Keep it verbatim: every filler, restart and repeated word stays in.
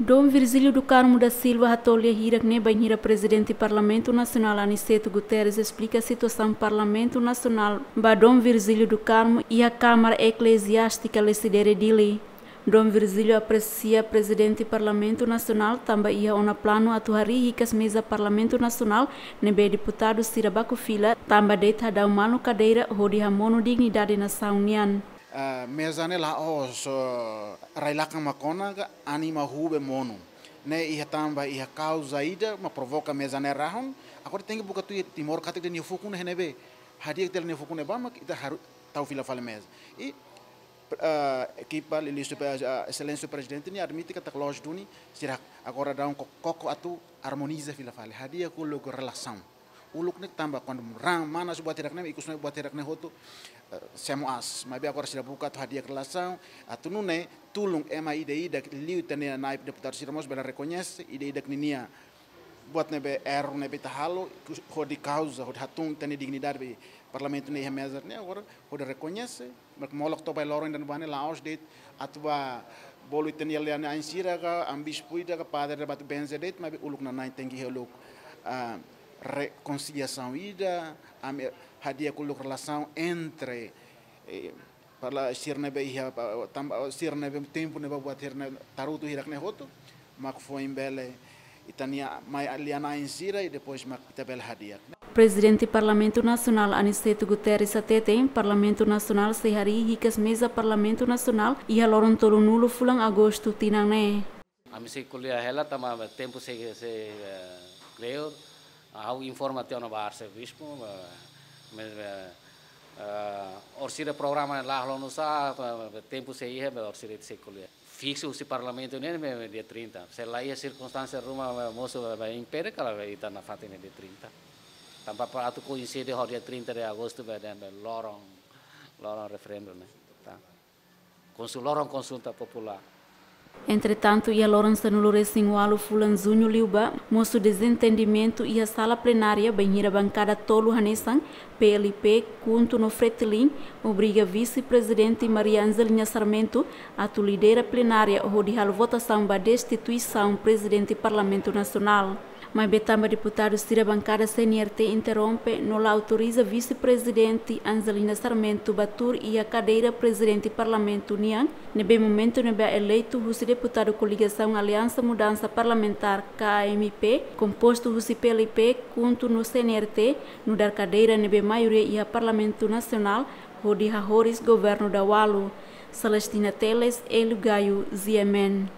Dom Virgílio do Carmo da Silva hato'o lia hirak-ne'e bainhira Prezidente Parlamentu Nasionál Aniceto Guterres esplika situasaun Parlamentu Nasionál ba Dom Virgílio do Carmo iha Kámara Ekleziástika Lecidere, Dili. Dom Virgílio apresia Prezidente Parlamentu Nasionál tanba iha ona planu atu harii hikas meza Parlamentu Nasionál ne'ebé deputadu sira baku fila tanba de'it hadau malu kadeira hodi hamonu dignidade nasaun nian. Ah, meza ne'e la'ós, ah, rai-lakan mak ona ka anima hube monu. Ne'e iha tanba iha kauza ida mak provoka meza ne'e rahun. Agora tenke buka tuir Timor katak ita-nia fukun ne'e iha ne'ebé. Hadi'a ita-nia fukun ne'ebá mak ita haru tau fila fali meza. I, ah, ekipa liuliu, ah, Exelénsia Prezidente nia admite katak loos duni, sira agora daudaun ko-, koko atu armoniza fila fali. Hadi'a uluk relasaun. Uluk ne'e tanba kuandu raan manas buat hirak-ne'e, ikus ne'e buat hirak-ne'e hotu, eh, semo aas. Maibé agora sira buka atu hadi'a relasaun, atu nune'e tulun ema ida-idak liuliu ita-nia na'in deputadu sira mós bele rekoñese ida-idak ninia buat ne'ebé erru ne'ebé ita halo, hodi kauza, hodi hatún ita-nia dignidade ba Parlamentu ne'e iha meza ne'e, agora hodi rekoñese, mak molok to'o ba loron ida-ne'ebá ne'e la'ós de'it atu bá bolu ita-nia lia-na'in sira ka, am bispu ida ka, padre ida bá atu benze de'it, maibé uluk nanain tenke iha uluk, ah, rekonsiliasaun ida, am, eh, hadi'a uluk relasaun entre, eh, para sira ne'ebé iha, pa-, tanba, sira ne'ebé tempu ne'ebá buat hirak-ne'e tarutu hirak-ne'e hotu, mak foin bele ita-nia mai lia-na'in sira i depois mak ita bele hadi'a. Prezidente Parlamentu Nasionál Aniceto Guterres hateten, Parlamentu Nasionál sei harii hikas meza Parlamentu Nasionál iha loron tolunulu fulan Agostu tinan ne'e. Ami sei ko'alia hela tanba tempu sei, sei, eh, kleur, ha'u informa tiha ona ba arsebispu, eh, me, eh, eh, orsida programa la halo nusá, eh, tempu sei iha, orsida sei ko'alia. Fiksu husi Parlamentu ne'e, ne'e, ne'e dia trinta. Se la iha sirkunstánsia ruma, eh, mosu, eh, eh, impede kala, eh, ita nafatin ne'e dia trinta. Tanba para atu koinside ho dia trinta de Agostu, eh, eh, loron, loron referendu ne'e. Tá. Konsul-, loron konsulta populár. Entretantu, iha loron sanulu-resin-ualu fulan Juñu liubá, mosu dezentendimentu iha sala plenária bainhira bankada tolu hanesan, P L P, KHUNTO no FRETILIN, obriga Vise-Prezidente Maria Angelina Sarmento atu lidera plenária hodi halo votasaun ba destituisaun Prezidente Parlamentu Nasionál. Maibé tanba deputadu sira bankada C N R T interrompe no la autoriza Vise-Prezidente Angelina Sarmento bá tuur iha kadeira Prezidente Parlamentu nian, ne'ebé momentu ne'ebá eleitu husi deputadu koligasaun Aliansa Mudansa Parlamentár, K A M P, kompostu husi P L P, KHUNTO no C N R T, nu'udar kadeira ne'ebé maioria iha Parlamentu Nasionál, hodi hahoris governu daudaun. Celestina Teles, Hélio Gaio, G M N.